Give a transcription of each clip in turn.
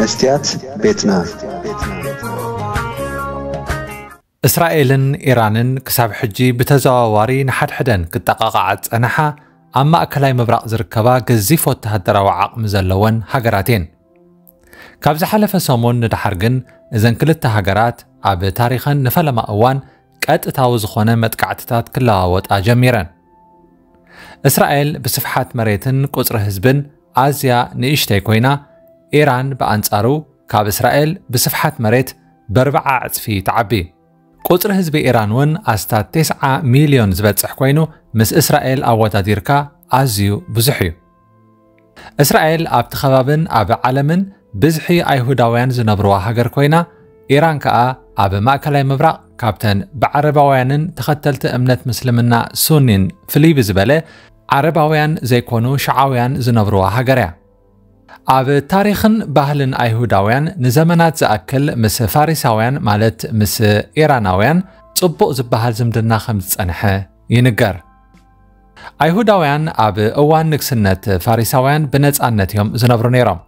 መስትያት ቤትና። እስራኤልን ኢራንን ክሳብ ሕጂ ብተዘዋዋሪ ንሓድሕደን ክጠቓቓዓ ዝጸንሓ፣ ኣብ ማእከላይ ምብራቕ ዝርከባ ገዚፍ ወተሃደራዊ ዓቕሚ ዘለወን ሃገራት እየን። ካብ ዝሓለፈ ሰሙን ንደሓር ግን፣ እዘን ክልተ ሃገራት ኣብ ታሪኸን ንፈለማ እዋን ቀጥታዊ ዝኾነ መጥቃዕትታት ክለዋወጣ ጀሚረን። እስራኤል ብስፍሓት መሬትን ቁጽሪ ህዝብን ኣዝያ ንእሽተይ ኮይና፣ ኢራን ብኣንጻሩ ካብ እስራኤል ብስፍሓት መሬት በርብዓ ዕጽፊ ትዓቢ። ቁጽሪ ህዝቢ ኢራን እውን ኣስታት ተስዓ ሚልዮን ዝበጽሕ ኮይኑ፣ ምስ እስራኤል ኣወዳዲርካ ኣዝዩ ብዙሕ እዩ። እስራኤል ኣብቲ ከባብን ኣብ ዓለምን ብዝሒ ኣይሁዳውያን ዝነብርዋ ሃገር ኮይና፣ ኢራን ከኣ ኣብ ማእከላይ ምብራቕ ካብተን ብዓረባውያንን ተኸተልቲ እምነት ምስልምና ሱኒን ፍልይ ብዝበለ ዓረባውያን ዘይኮኑ ሽዓውያን ዝነብርዋ ሃገር እያ። ኣብ ታሪኽን ባህልን ኣይሁዳውያን ንዘመናት ዝኣክል ምስ ፋሪሳውያን፣ ማለት ምስ ኢራናውያን፣ ጽቡቕ ዝበሃል ዝምድና ከም ዝጸንሐ ይንገር። ኣይሁዳውያን ኣብ እዋን ንግስነት ፋሪሳውያን ብነጻነት እዮም ዝነብሩ ነይሮም።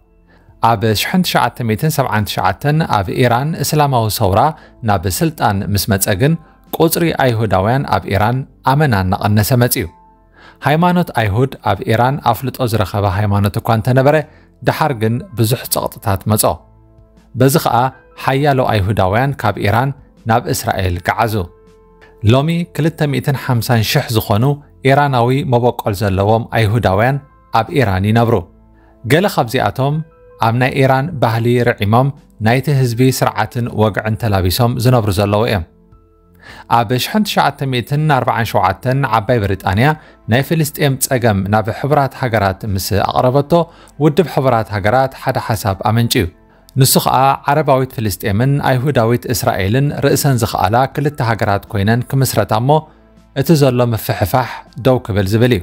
ኣብ ሽሕን ትሽዓተ ሚእትን ሰብዓን ትሽዓተን ኣብ ኢራን እስላማዊ ሰውራ ናብ ስልጣን ምስ መጸ ግን፣ ቁጽሪ ኣይሁዳውያን ኣብ ኢራን ኣመና እናቐነሰ መጺኡ። ሃይማኖት ኣይሁድ ኣብ ኢራን ኣፍልጦ ዝረኸበ ሃይማኖት እኳ እንተነበረ፣ ደሓር ግን ብዙሕ ጸቕጥታት መጾ። በዚ ኸኣ ሓያሎ ኣይሁዳውያን ካብ ኢራን ናብ እስራኤል ገዓዙ። ሎሚ ክልተ ሚእትን ሓምሳን ሽሕ ዝኾኑ ኢራናዊ መበቆል ዘለዎም ኣይሁዳውያን ኣብ ኢራን ይነብሩ። ገለ ካብዚኣቶም ኣብ ናይ ኢራን ባህሊ ርዒሞም፣ ናይቲ ህዝቢ ስርዓትን ወግዕን ተላቢሶም ዝነብሩ ዘለዉ እዮም። ኣብ ሽሕን ትሽዓተ ሚእትን ኣርባዓን ሸውዓተን ዓባይ ብሪጣንያ ናይ ፍልስጤም ጸገም ናብ ሕቡራት ሃገራት ምስ ኣቕረበቶ፣ ውድብ ሕቡራት ሃገራት ሓደ ሓሳብ ኣመንጭዩ። ንሱ ኸኣ ዓረባዊት ፍልስጤምን ኣይሁዳዊት እስራኤልን ርእሰን ዝኸኣላ ክልተ ሃገራት ኮይነን ክምስረታ እሞ፣ እቲ ዘሎ ምፍሕፋሕ ደው ክብል ዝብል እዩ።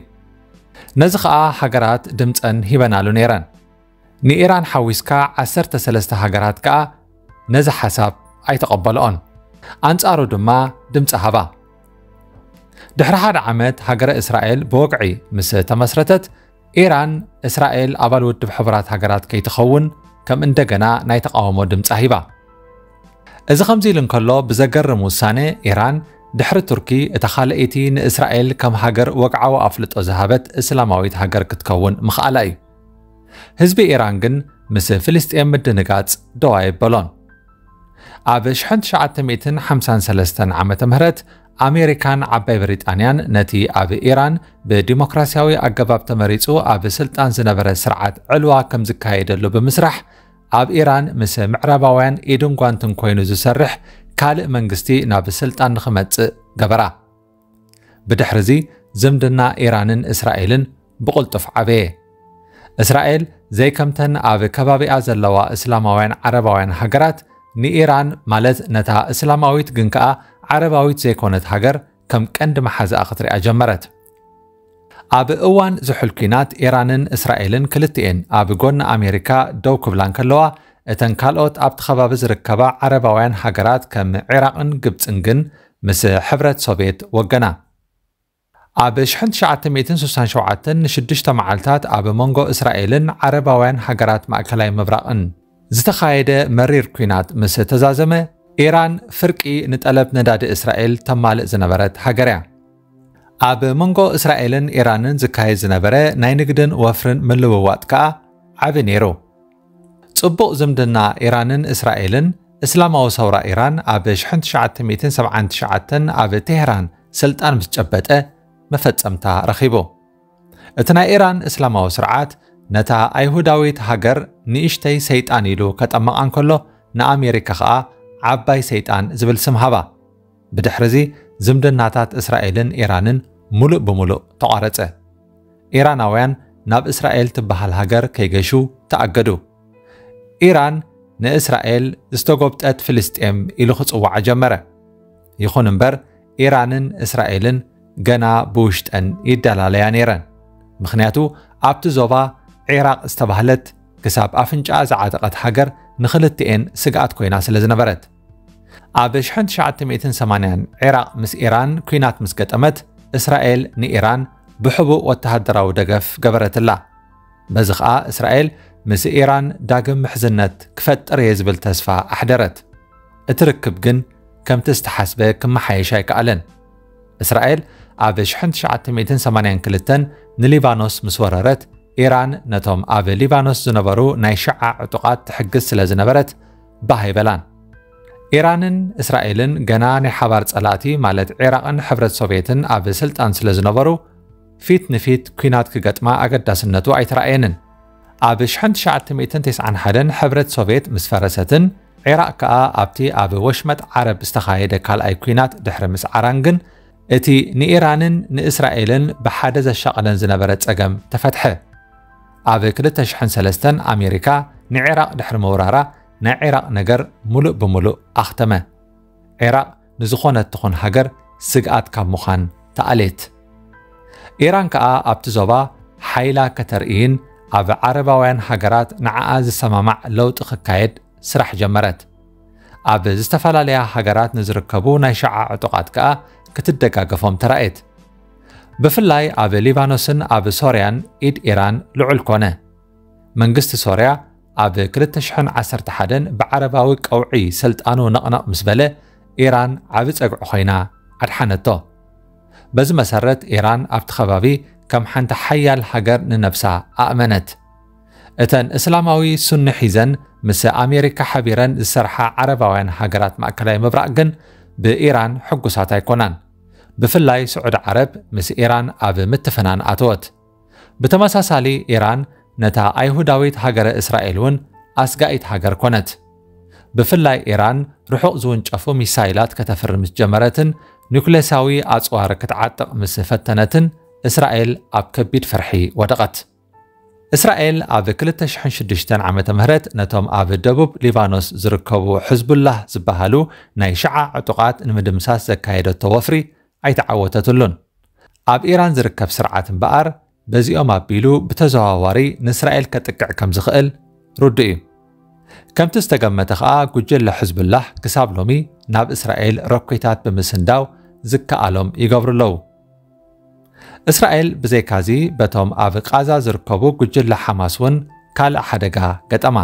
ነዚ ኸኣ ሃገራት ድምጸን ሂበናሉ ነይረን። ንኢራን ሓዊስካ ዓሰርተ ሰለስተ ሃገራት ከኣ ነዚ ሓሳብ ኣይተቐበልኦን። ኣንጻሩ ድማ ድምጺ ሃባ። ድሕሪ ሓደ ዓመት ሃገረ እስራኤል ብወግዒ ምስ ተመስረተት፣ ኢራን እስራኤል ኣባል ውድብ ሕቡራት ሃገራት ከይትኸውን ከም እንደገና ናይ ተቓውሞ ድምጻ ሂባ። እዚ ከምዚ ኢሉ እንከሎ፣ ብዘገርም ውሳነ ኢራን ድሕሪ ቱርኪ እታ ካልኣይቲ ንእስራኤል ከም ሃገር ወግዓዊ ኣፍልጦ ዝሃበት እስላማዊት ሃገር ክትከውን ምኽኣላ እዩ። ህዝቢ ኢራን ግን ምስ ፍልስጤም ምድንጋጽ ደው ኣየበሎን። ኣብ ሽሕን ትሽዓተ ሚእትን ሓምሳን ሰለስተን ዓመተ ምህረት ኣሜሪካን ዓባይ ብሪጣንያን ነቲ ኣብ ኢራን ብዲሞክራሲያዊ ኣገባብ ተመሪጹ ኣብ ስልጣን ዝነበረ ስርዓት ዕልዋ ከም ዝካየደሉ ብምስራሕ፣ ኣብ ኢራን ምስ ምዕራባውያን ኢድን ጓንትን ኮይኑ ዝሰርሕ ካልእ መንግስቲ ናብ ስልጣን ንኽመጽእ ገበራ። ብድሕርዚ ዝምድና ኢራንን እስራኤልን ብቕልጡፍ ዓበየ። እስራኤል ዘይከምተን ኣብ ከባቢኣ ዘለዋ እስላማውያን ዓረባውያን ሃገራት፣ ንኢራን፣ ማለት ነታ እስላማዊት ግን ከኣ ዓረባዊት ዘይኮነት ሃገር፣ ከም ቀንዲ መሓዛኣ ክትሪኣ ጀመረት። ኣብ እዋን ዝሑል ኲናት፣ ኢራንን እስራኤልን ክልቲኤን ኣብ ጎኒ ኣሜሪካ ደው ክብላ እንከለዋ፣ እተን ካልኦት ኣብቲ ከባቢ ዝርከባ ዓረባውያን ሃገራት ከም ዒራቕን ግብጽን ግን ምስ ሕብረት ሶቭየት ወገና። ኣብ ሽሕን ትሽዓተ ሚእትን ስሳን ሸውዓተን ንሽዱሽተ መዓልታት ኣብ መንጎ እስራኤልን ዓረባውያን ሃገራት ማእከላይ ምብራቕን ዝተኻየደ መሪር ኲናት ምስ ተዛዘመ፣ ኢራን ፍርቂ ንጠለብ ነዳዲ እስራኤል ተማልእ ዝነበረት ሃገር እያ። ኣብ መንጎ እስራኤልን ኢራንን ዝካየድ ዝነበረ ናይ ንግድን ወፍርን ምልውዋጥ ከኣ ዓቢ ነይሩ። ጽቡቕ ዝምድና ኢራንን እስራኤልን፣ እስላማዊ ሰውራ ኢራን ኣብ ሽሕን ትሽዓተ ሚእትን ሰብዓን ትሽዓተን ኣብ ቴህራን ስልጣን ምስ ጨበጠ መፈጸምታ ረኺቡ። እቲ ናይ ኢራን እስላማዊ ስርዓት ነታ ኣይሁዳዊት ሃገር ንእሽተይ ሰይጣን ኢሉ ከጠምቓ እንከሎ፣ ንኣሜሪካ ኸኣ ዓባይ ሰይጣን ዝብል ስም ሃባ። ብድሕርዚ ዝምድናታት እስራኤልን ኢራንን ሙሉእ ብሙሉእ ተቋረጸ። ኢራናውያን ናብ እስራኤል ትበሃል ሃገር ከይገሹ ተኣገዱ። ኢራን ንእስራኤል ዝተጎብጠት ፍልስጤም ኢሉ ክጽውዓ ጀመረ። ይኹን እምበር፣ ኢራንን እስራኤልን ገና ብውሽጠን ይደላለያ ነይረን። ምኽንያቱ፣ ኣብቲ ዞባ ዒራቕ ዝተባህለት ክሳብ ኣፍንጫኣ ዝዓጠቐት ሃገር ንኽልቲኤን ስግኣት ኮይና ስለ ዝነበረት። ኣብ ሽሕን ትሽዓተ ሚእትን ሰማንያን ዒራቕ ምስ ኢራን ኲናት ምስ ገጠመት፣ እስራኤል ንኢራን ብሕቡእ ወተሃደራዊ ደገፍ ገበረትላ። በዚ ኸኣ እስራኤል ምስ ኢራን ዳግም ምሕዝነት ክፈጥር እየ ዝብል ተስፋ ኣሕደረት። እቲ ርክብ ግን ከምቲ ዝተሓስበ ክመሓየሽ ኣይከኣለን። እስራኤል ኣብ ሽሕን ትሽዓተ ሚእትን ሰማንያን ክልተን ንሊባኖስ ምስ ወረረት፣ ኢራን ነቶም ኣብ ሊባኖስ ዝነበሩ ናይ ሽዓ ዕጡቓት ትሕግዝ ስለ ዝነበረት፣ ባህ ኣይበላን። ኢራንን እስራኤልን ገና ናይ ሓባር ጸላእቲ፣ ማለት ዒራቕን ሕብረት ሶቭየትን ኣብ ስልጣን ስለ ዝነበሩ፣ ፊት ንፊት ኲናት ክገጥማ ኣገዳስነቱ ኣይተራእየንን። ኣብ ሽሕን ትሽዓተ ሚእትን ተስዓን ሓደን ሕብረት ሶቭየት ምስ ፈረሰትን፣ ዒራቕ ከኣ ኣብቲ ኣብ ወሽመጥ ዓረብ ዝተኻየደ ካልኣይ ኲናት ድሕሪ ምስዓራን ግን፣ እቲ ንኢራንን ንእስራኤልን ብሓደ ዘሻቐለን ዝነበረ ጸገም ተፈትሐ። ኣብ ክልተ ሽሕን ሰለስተን ኣሜሪካ ንዒራቕ ድሕሪ ምውራራ፣ ናይ ዒራቕ ነገር ሙሉእ ብሙሉእ ኣኽተመ። ዒራቕ ንዝኾነት ትኹን ሃገር ስግኣት ካብ ምዃን ተኣልየት። ኢራን ከኣ ኣብቲ ዞባ ሓይላ ከተርእይን ኣብ ዓረባውያን ሃገራት ንዓኣ ዝሰማማዕ ለውጢ ክካየድ ስራሕ ጀመረት። ኣብ ዝተፈላለያ ሃገራት ንዝርከቡ ናይ ሽዓ ዕጡቓት ከኣ ክትደጋገፎም ተራእየት። ብፍላይ ኣብ ሊባኖስን ኣብ ሶርያን ኢድ ኢራን ልዑል ኮነ። መንግስቲ ሶርያ ኣብ ክልተ ሽሕን ዓሰርተ ሓደን ብዓረባዊ ቀውዒ ስልጣኑ ነቕነቕ ምስ በለ፣ ኢራን ዓቢ ጸግዒ ኮይና ኣድሓነቶ። በዚ መሰረት፣ ኢራን ኣብቲ ከባቢ ከም ሓንቲ ሓያል ሃገር ንነብሳ ኣእመነት። እተን እስላማዊ ሱኒ ሒዘን ምስ ኣሜሪካ ሓቢረን ዝሰርሓ ዓረባውያን ሃገራት ማእከላይ ምብራቕ ግን ብኢራን ሕጉሳት ኣይኮናን። ብፍላይ ስዑዲ ዓረብ ምስ ኢራን ኣብ ምትፍናን ኣተወት። ብተመሳሳሊ፣ ኢራን ነታ ኣይሁዳዊት ሃገረ እስራኤል እውን ኣስጋኢት ሃገር ኮነት። ብፍላይ ኢራን ርሑቕ ዝውንጨፉ ሚሳይላት ከተፍሪ ምስ ጀመረትን ኒኩሌሳዊ ኣጽዋር ክትዓጥቕ ምስ ፈተነትን፣ እስራኤል ኣብ ከቢድ ፍርሒ ወደቐት። እስራኤል ኣብ ክልተ ሽሕን ሽዱሽተን ዓመተ ምህረት ነቶም ኣብ ደቡብ ሊባኖስ ዝርከቡ ሕዝቡላህ ዝበሃሉ ናይ ሽዓ ዕጡቓት ንምድምሳስ ዘካየደቶ ወፍሪ ኣይተዓወተትሉን። ኣብ ኢራን ዝርከብ ስርዓት እምበኣር፣ በዚኦም ኣቢሉ ብተዘዋዋሪ ንእስራኤል ከጥቅዕ ከም ዝኽእል ርዱእ እዩ። ከምቲ ዝተገመተ ከኣ፣ ጉጅለ ሕዝቡላህ ክሳብ ሎሚ ናብ እስራኤል ሮኬታት ብምስንዳው ዝከኣሎም ይገብሩ ኣለዉ። እስራኤል ብዘይካዚ፣ በቶም ኣብ ቃዛ ዝርከቡ ጉጅለ ሓማስ እውን ካልእ ሓደጋ ገጠማ።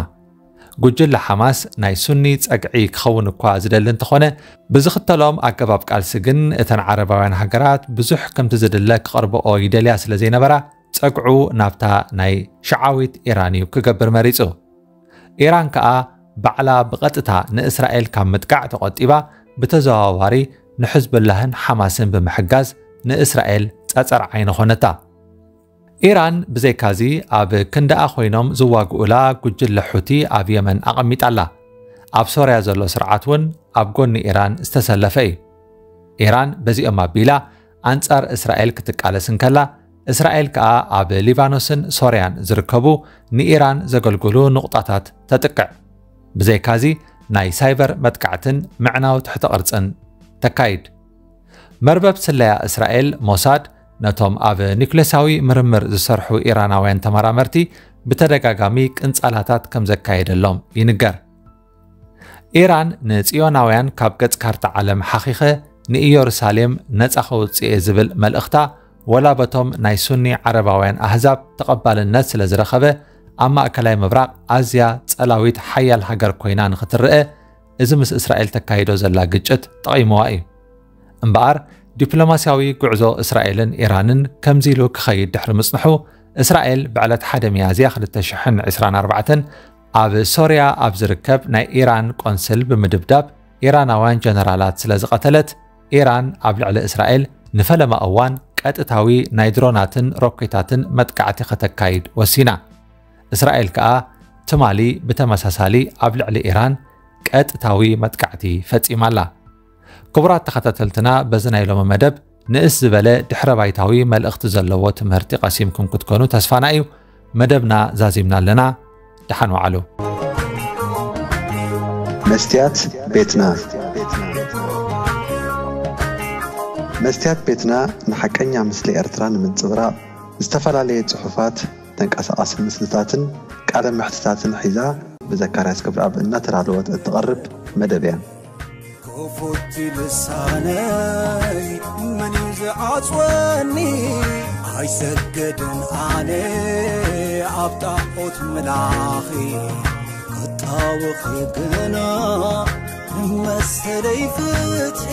ጉጅለ ሓማስ ናይ ሱኒ ጸግዒ ክኸውን እኳ ዝደሊ እንተኾነ፣ ብዝኽተሎም ኣገባብ ቃልሲ ግን እተን ዓረባውያን ሃገራት ብዙሕ ከምቲ ዝድለ ክቐርብኦ ይደልያ ስለ ዘይነበራ፣ ጸግዑ ናብታ ናይ ሽዓዊት ኢራን እዩ ክገብር መሪጹ። ኢራን ከኣ ባዕላ ብቐጥታ ንእስራኤል ካብ ምጥቃዕ ተቖጢባ፣ ብተዘዋዋሪ ንሕዝቡላህን ሓማስን ብምሕጋዝ ንእስራኤል ጸጸር ዓይኒ ኾነታ። ኢራን ብዘይካዚ፣ ኣብ ክንዳኣ ኮይኖም ዝዋግኡላ ጉጅለ ሑቲ ኣብ የመን ኣቐሚጣ ኣላ። ኣብ ሶርያ ዘሎ ስርዓት እውን ኣብ ጎኒ ኢራን ዝተሰለፈ እዩ። ኢራን በዚኦም ኣቢላ ኣንጻር እስራኤል ክትቃለስ እንከላ፣ እስራኤል ከኣ ኣብ ሊባኖስን ሶርያን ዝርከቡ ንኢራን ዘገልግሉ ንቑጣታት ተጥቅዕ። ብዘይካዚ፣ ናይ ሳይበር መጥቃዕትን ምዕናው ትሕተ ቅርጽን ተካይድ። መርበብ ስለያ እስራኤል ሞሳድ ነቶም ኣብ ኒኩሌሳዊ ምርምር ዝሰርሑ ኢራናውያን ተመራመርቲ ብተደጋጋሚ ቅንጻላታት ከም ዘካየደሎም ይንገር። ኢራን ንጽዮናውያን ካብ ገጽ ካርታ ዓለም ሓኺኸ ንኢየሩሳሌም ነጻ ከውጽእ እየ ዝብል መልእኽታ፣ ወላ በቶም ናይ ሱኒ ዓረባውያን ኣህዛብ ተቐባልነት ስለ ዝረኸበ፣ ኣብ ማእከላይ ምብራቕ ኣዝያ ጸላዊት ሓያል ሃገር ኮይና ንኽትረአ፣ እዚ ምስ እስራኤል ተካይዶ ዘላ ግጭት ጠቒምዋ እዩ። እምበኣር፣ ዲፕሎማስያዊ ጉዕዞ እስራኤልን ኢራንን ከምዚ ኢሉ ክኸይድ ድሕሪ ምጽንሑ፣ እስራኤል ብዕለት ሓደ ሚያዝያ ክልተ ሽሕን ዕስራን ኣርባዕተን ኣብ ሶርያ ኣብ ዝርከብ ናይ ኢራን ቆንስል ብምድብዳብ፣ ኢራናውያን ጀነራላት ስለ ዝቐተለት፣ ኢራን ኣብ ልዕሊ እስራኤል ንፈለማ እዋን ቀጥታዊ ናይ ድሮናትን ሮኬታትን መጥቃዕቲ ከተካይድ ወሲና። እስራኤል ከኣ ትማሊ ብተመሳሳሊ ኣብ ልዕሊ ኢራን ቀጥታዊ መጥቃዕቲ ፈጺማ ኣላ። ክቡራት ተኸታተልትና፣ በዚ ናይ ሎሚ መደብ ንእስ ዝበለ ድሕረ ባይታዊ መልእኽቲ ዘለዎ ትምህርቲ ቀሲምኩም ክትኮኑ ተስፋና እዩ። መደብና ዛዚምና ኣለና። ደሓን ዋዕሉ። መስትያት ቤትና። መስትያት ቤትና ንሓቀኛ ምስሊ ኤርትራ ንምንጽብራቕ፣ ዝተፈላለየ ጽሑፋት፣ ተንቀሳቓሲ ምስልታትን ቃለ መሕትታትን ሒዛ ብዘካርያስ ገብረኣብ እናተዳለወት እትቐርብ መደብ እያ። ክፉት ልሳነይ መን እዩ ዝዓጽወኒ? ኣይሰግድን ኣነ ኣብ ጣዖት መላኺ ክጣወኺ ግና ንመሰለይ ፍትሒ